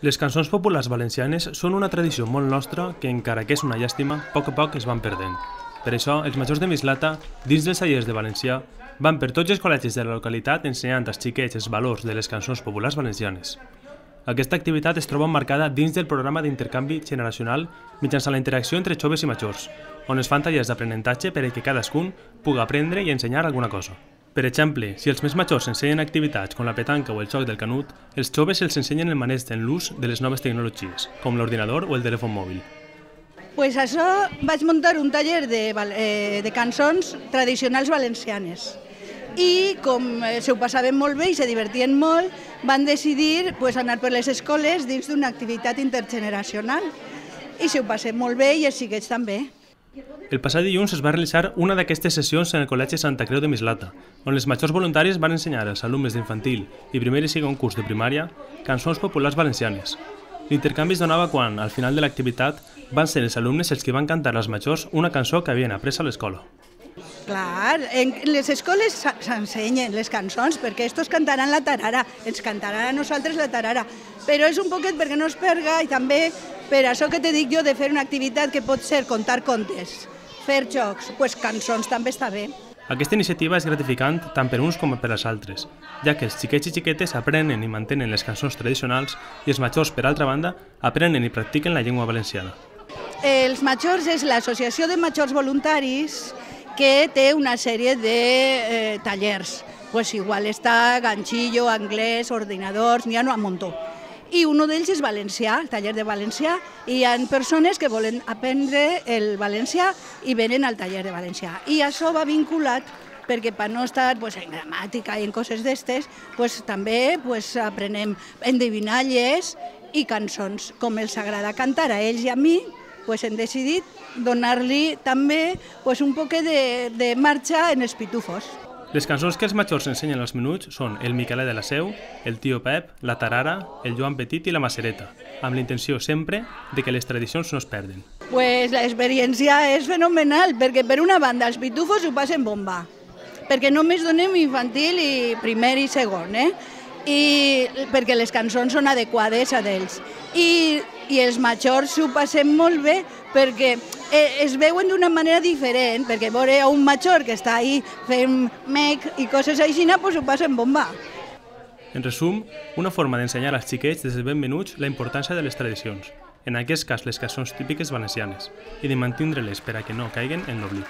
Les cançons populars valencianes són una tradició molt nostra que, encara que és una llàstima, a poc es van perdent. Per això, els majors de Mislata, dins dels tallers de valencià, van per tots els col·legis de la localitat ensenyant als xiquets els valors de les cançons populars valencianes. Aquesta activitat es troba emmarcada dins del programa d'intercanvi generacional mitjançant la interacció entre joves i majors, on es fan tallers d'aprenentatge per a que cadascun pugui aprendre i ensenyar alguna cosa. Per exemple, si els més majors ensenyen activitats com la petanca o el joc del canut, els joves els ensenyen el maneig en l'ús de les noves tecnologies, com l'ordinador o el telèfon mòbil. Pues això vaig muntar un taller de cançons tradicionals valencianes. I com s'ho passaven molt bé i se divertien molt, van decidir anar per les escoles dins d'una activitat intergeneracional. I s'ho passen molt bé i els xiquets també. El passat dilluns es va realitzar una d'aquestes sessions en el Col·legi Santa Creu de Mislata, on els majors voluntaris van ensenyar als alumnes d'infantil i primer i segon curs de primària cançons populars valencianes. L'intercanvi es donava quan, al final de l'activitat, van ser els alumnes els que van cantar als majors una cançó que havien après a l'escola. Clar, en les escoles s'ensenyen les cançons perquè estos cantaran la tarara, ens cantaran a nosaltres la tarara, però és un poquet perquè no es perga i també per això que te dic jo de fer una activitat que pot ser contar contes, fer jocs, doncs cançons també està bé. Aquesta iniciativa és gratificant tant per uns com per als altres, ja que els xiquets i xiquetes aprenen i mantenen les cançons tradicionals i els majors, per altra banda, aprenen i practiquen la llengua valenciana. Els majors és l'associació de majors voluntaris que té una sèrie de tallers. Igual està ganxillo, anglès, ordinadors, n'hi ha un muntó. I un d'ells és valencià, el taller de valencià, i hi ha persones que volen aprendre el valencià i venen al taller de valencià. I això va vinculat perquè per no estar en gramàtica i en coses d'estes, també aprenem endevinalles i cançons. Com els agrada cantar a ells i a mi, hem decidit donar-li també un poquet de marxa en els pitufos. Les cançons que els majors ensenyen als menuts són el Miquelet de la Seu, el Tio Pep, la Tarara, el Joan Petit i la Macereta, amb la intenció sempre de que les tradicions no es perden. L'experiència és fenomenal, perquè per una banda els pitufos ho passen bomba, perquè només donem infantil i primer i segon, i perquè les cançons són adequades a d'ells. I els majors s'ho passen molt bé perquè es veuen d'una manera diferent, perquè veure un major que està ahí fent mec i coses així, doncs ho passen bomba. En resum, una forma d'ensenyar als xiquets des de ben menuts la importància de les tradicions, en aquest cas les cançons típiques valencianes, i de mantindre-les per a que no caiguen en l'oblit.